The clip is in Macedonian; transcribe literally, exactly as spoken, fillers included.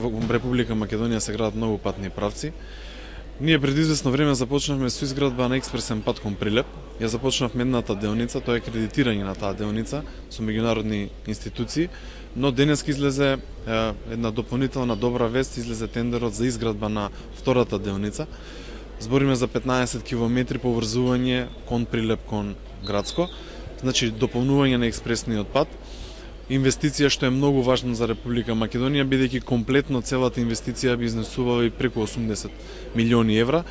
во Република Македонија се градат многу патни правци. Ние пред известно време започнавме со изградба на експресен пат кон Прилеп. Ја започнавме едната деоница, тоа е кредитирање на таа деоница со меѓународни институции, но денеска излезе е, една дополнителна добра вест, излезе тендерот за изградба на втората деоница. Збориме за петнаесет километри поврзување кон Прилеп кон Грацко, значи дополнување на експресниот пат. Инвестиција што е многу важна за Република Македонија, бидејќи комплетно целата инвестиција би изнесувала и преку осумдесет милиони евра.